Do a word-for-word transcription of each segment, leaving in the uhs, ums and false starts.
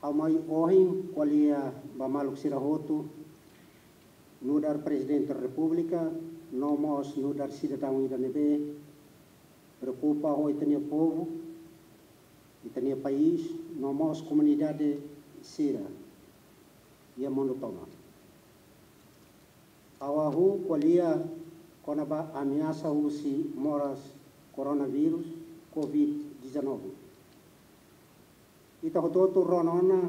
Ha'u mai ohin ko'alia ba maluk sira hotu, nu'udar Prezidente Repúblika, no mós nu'udar sidadaun ida ne'ebé preokupa ho ita-nia povu, ita-nia país, no mós komunidade sira iha mundu tomak. Ha'u hahú ko'alia kona-ba ameasa husi moras koronavírus, covid dezanove. Ita hotu-hotu rona ona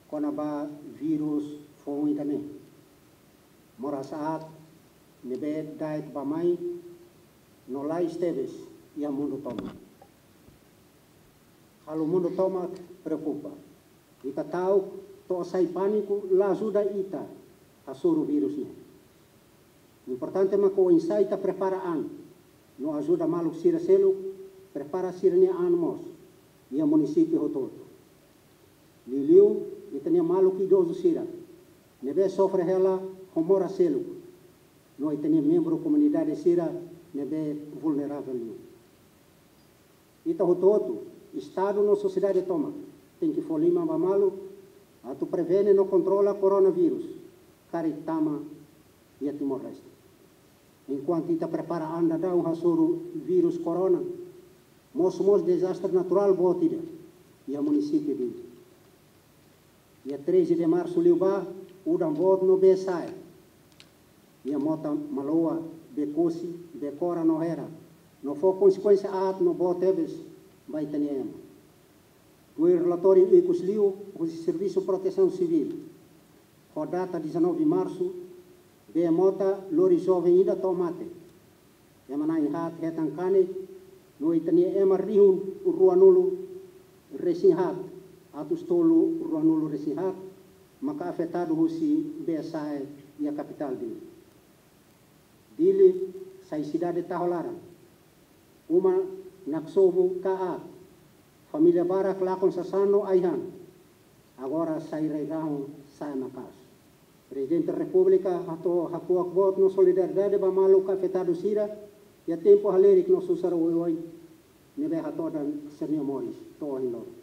kona-ba vírus foun ida-ne'e. Moras aat ne'ebé da'et bá-mai no lais tebes iha mundu tomak. Halo mundu tomak preokupa. Ita ta'uk to'o sai pániku la ajuda ita hasoru vírus ne'e. Importante mak oinsá ita prepara an, no ajuda maluk sira seluk prepara sira-nia an mós, iha munisípiu hotu-hotu. Liuliu, ita-nia maluk idozu sira ne'ebé sofre hela ho moras seluk, no ita-nia membru komunidade sira ne'ebé vulneravel liu. Ita hotu-hotu, Estadu no sosiedade tomak, tenke fó liman ba malu atu prevene no kontrola koronavírus karik tama iha Timor-Leste. Enkuantu ita prepara an daudaun hasoru vírus korona, mosu mós dezastre naturál boot ida iha munisípiu Dili. Iha treze de março liubá, udan boot no bee sa'e iha mota Maloa, Bekosi, Bekora no Hera, no fó konsekuénsia aat no boot tebes ba ita-nia ema. Tuir relatóriu ikus liu husi Servisu Protesaun Sivíl, ho data dezanove marsu, bee mota lori joven ida to'o mate. Ema na'in haat hetan kanek, no ita-nia ema rihun ruanulu resin haat atus tolu ruanulu resin haat maka afetadu husi bee sa'e iha kapitál Dili. Dili sai sidade taho laran. Uma naksobu ka aat. Família barak lakon sasán no ai-han. Agora sai rai-rahun, sa'e maka'as. Prezidente Repúblika hato'o hakuak boot no solidariedade ba maluk afetadu sira iha tempu halerik no susar oioin ne'ebé hatodan sira-nia moris to'o ohin loron.